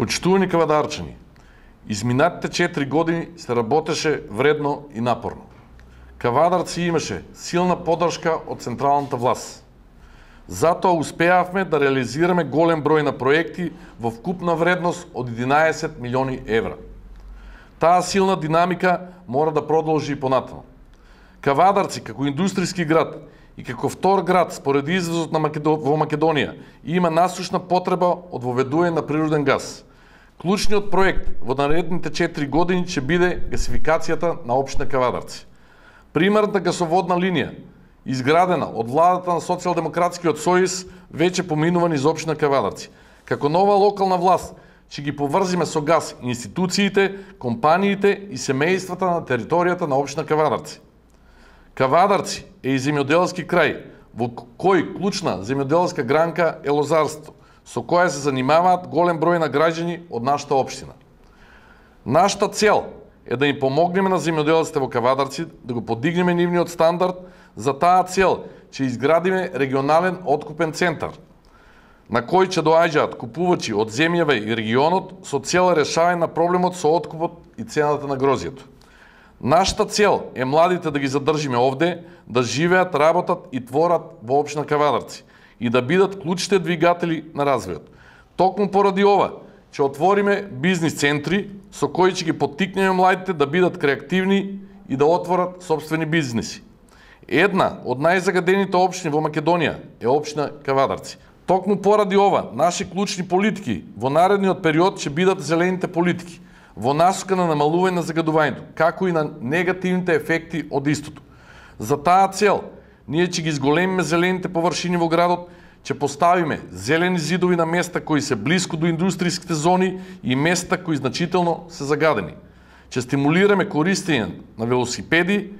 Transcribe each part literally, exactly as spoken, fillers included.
Почитувани кавадарчани, изминатите четири години се работеше вредно и напорно. Кавадарци имаше силна поддршка од централната власт. Затоа успеавме да реализираме голем број на проекти во вкупна вредност од единаесет милиони евра. Таа силна динамика мора да продолжи и понатаму. Кавадарци како индустријски град и како втор град според извозот на Македо... во Македонија има насушна потреба од воведување на природен газ. Клучниот проект во наредните четири години ќе биде гасификацијата на општина Кавадарци. Примерната гасоводна линија, изградена од владата на Социјалдемократскиот сојуз, веќе поминува низ општина Кавадарци. Како нова локална власт ќе ги поврзиме со газ институциите, компаниите и семејствата на територијата на општина Кавадарци. Кавадарци е и земјоделски крај, во кој клучна земјоделска гранка е лозарство, со која се занимаваат голем број на граѓани од нашата општина. Нашата цел е да им помогнеме на земјоделците во Кавадарци, да го подигнеме нивниот стандард. За таа цел ќе изградиме регионален откупен центар, на кој ќе доаѓаат купувачи од земјава и регионот со цел решавање на проблемот со откупот и цената на грозјето. Нашата цел е младите да ги задржиме овде, да живеат, работат и творат во општина Кавадарци и да бидат клучните двигатели на развојот. Токму поради ова ќе отвориме бизнис центри со кои ќе ги поттикнеме младите да бидат креативни и да отворат сопствени бизниси. Една од најзагадените општини во Македонија е општина Кавадарци. Токму поради ова, наши клучни политики во наредниот период ќе бидат зелените политики, во насока на намалување на загадувањето, како и на негативните ефекти од истото. За таа цел, ние ќе ги зголемиме зелените површини во градот, ќе поставиме зелени зидови на места кои се блиску до индустријските зони и места кои значително се загадени. Ќе стимулираме користење на велосипеди,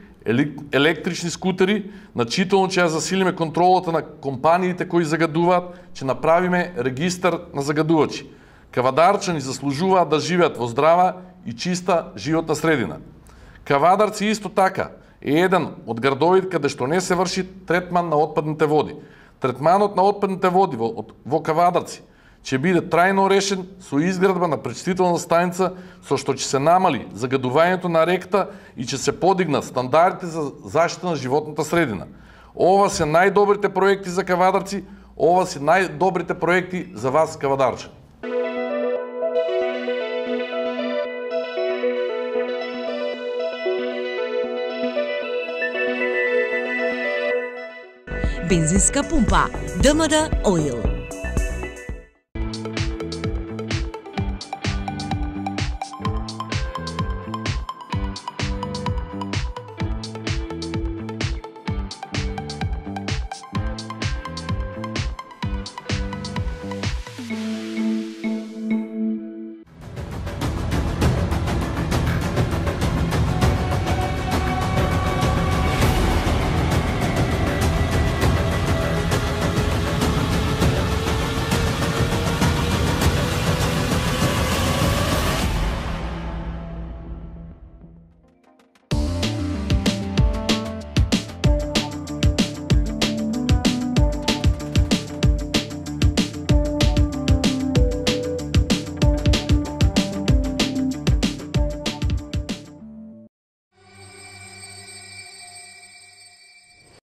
електрични скутери, значително ќе ја засилиме контролата на компаниите кои загадуваат, ќе направиме регистар на загадувачи. Кавадарчани заслужуваат да живеат во здрава и чиста животна средина. Кавадарци исто така е еден од градовите каде што не се врши третман на отпадните води. Третманот на отпадните води во, во Кавадарци ќе биде трајно решен со изградба на пречистителна станица со што ќе се намали загадувањето на реката и ќе се подигнат стандардите за заштита на животната средина. Ова се најдобрите проекти за Кавадарци, ова се најдобрите проекти за вас, кавадарчани. Бензинска пумпа ДМД Оил.